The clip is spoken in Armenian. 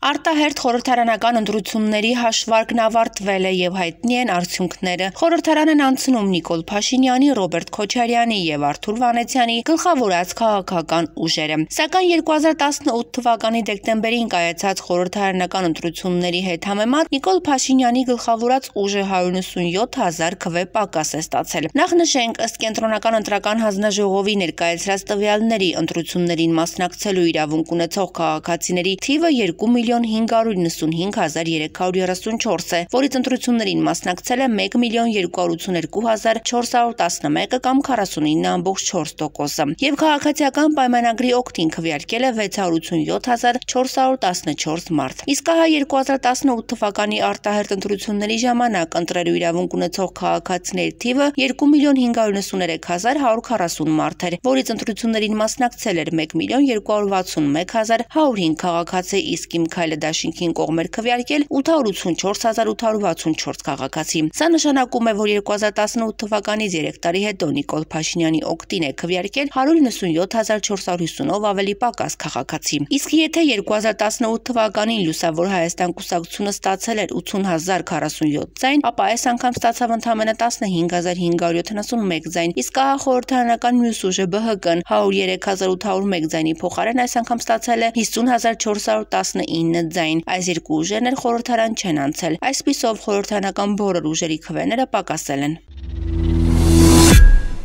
Արտահերթ խորհրդարանական ընտրությունների հաշվարկն ավարտվել է եւ հայտնի են արդյունքները։ Խորհրդարան են անցնում Նիկոլ Փաշինյանի, Ռոբերտ Քոչարյանի եւ Արթուր Վանեցյանի գլխավորած քաղաքական ուժերը։ Սակայն 2018 թվականի դեկտեմբերին կայացած խորհրդարանական ընտրությունների հետ համեմատ Նիկոլ Փաշինյանի գլխավորած ուժը 197,000 քվե պակաս է ստացել։ Նախ նշենք, ըստ Կենտրոնական ընտրական հանձնաժողովի ներկայացրած տվյալների, ընտրություններին մասնակցելու իրավունք ունեցող քաղաքացիների թիվը 2,995,334 է, որից ընտրություններին մասնակցել է 1,282,411 կամ 49,4%, եւ քաղաքացիական պայմանագրի օգտին քվեարկել է 687,414 մարդ։ Իսկ հա 2018 թվականի արտահերթ ընտրությունների ժամանակ ընտրելու իրավունք ունեցող քաղաքացիների թիվը 2,993,140 մարդ էր, որից ընտրություններին մասնակցել էր 1,261,105 քաղաքացի, իսկ Իմ Քայլը դաշինքին կողմ էր քվեարկել 884,864 քաղաքացի։ Սա նշանակում է, որ 2018 թվականից 3 տարի հետո Նիկոլ Փաշինյանի օգտին է քվեարկել 197,450-ով ավելի պակաս քաղաքացի։ Իսկ եթե 2018 թվականին Լուսավոր Հայաստան կուսակցությունը ստացել էր 80,047 ձայն, ապա այս անգամ ստացավ ընդամենը 15,571 ձայն, իսկ ահա խորհրդարանական մյուս ուժը ԲՀԿ-ն 103,801 ձայնի փոխարեն այս անգամ ստացել է 50,419 ձայն։ Այս երկու ուժերն էլ խորհրդարան չեն անցել։ Այսպիսով խորհրդարանական բոլոր ուժերի քվեները պակասել են։